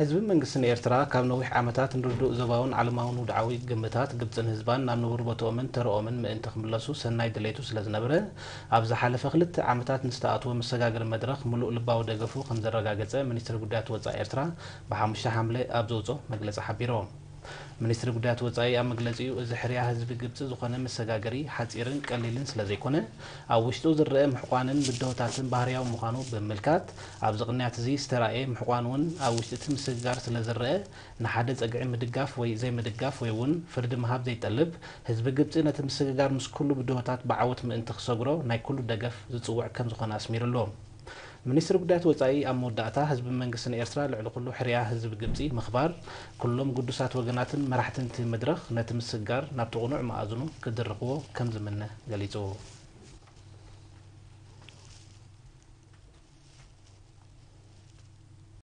ህዝብን መንግስትን ኤርትራ ካብ ነዊሕ ዓመታት ንርዱእ ዞባውን ዓለማውን ውድዓዊ ግምታት ግብጽን ህዝባን ናብ ንቡር ቦትኦምን ተርኦምን ምእንቲ ክምለሱ ሰናይ ድሌቱ ስለ ዝነበረ፣ ኣብ ዝሓለፈ ክልተ ዓመታት ንዝተኣትወ መሰጋገሪ መድረኽ ምሉእ ልባዊ ደገፉ ከም ዘረጋገጸ ሚኒስትሪ ጉዳያት ወጻኢ ኤርትራ ብሓሙሽተ ሓምለ ኣብ ዘውጽኦ መግለጺ ሓቢሩ። ሚኒስትሪ ጉዳያት ወጻኢ ኣብ መግለጺኡ፣ እዚ ሕርያ ህዝቢ ግብጺ ዝኾነ መሰጋገሪ ሓጺርን ቀሊልን ስለ ዘይኮነ፣ ኣብ ውሽጡ ዝረአ ምሕቋንን ብድሆታትን ባህርያዊ ምዃኑ ብምምልካት፣ ኣብዚ ቅንያት እዚ ዝተራእየ ምሕቋን እውን ኣብ ውሽጢ እቲ ምስግጋር ስለ ዝረአ፣ ንሓደ ጸግዒ ምድጋፍ ወይ ዘይምድጋፍ ወይ እውን ፍርዲ ምሃብ ዘይጠልብ፣ ህዝቢ ግብጺ ነቲ ምስግጋር ምስ ኩሉ ብድሆታት ብዓወት ምእንቲ ክሰግሮ ናይ ኩሉ ደገፍ ዝጽውዕ ከም ዝኾነ ኣስሚሩሉ። ሚኒስትሪ ጉዳያት ወጻኢ ኣብ መወዳእታ፣ ህዝብን መንግስትን ኤርትራ ልዕሊ ኩሉ ሕርያ ህዝቢ ግብጺ ምኽባር፣ ኩሎም ግዱሳት ወገናትን መራሕትን እቲ መድረኽ ነቲ ምስግጋር ናብቲ ቅኑዕ መኣዝኑ ክድርኽዎ ከም ዝምነ ገሊጹ።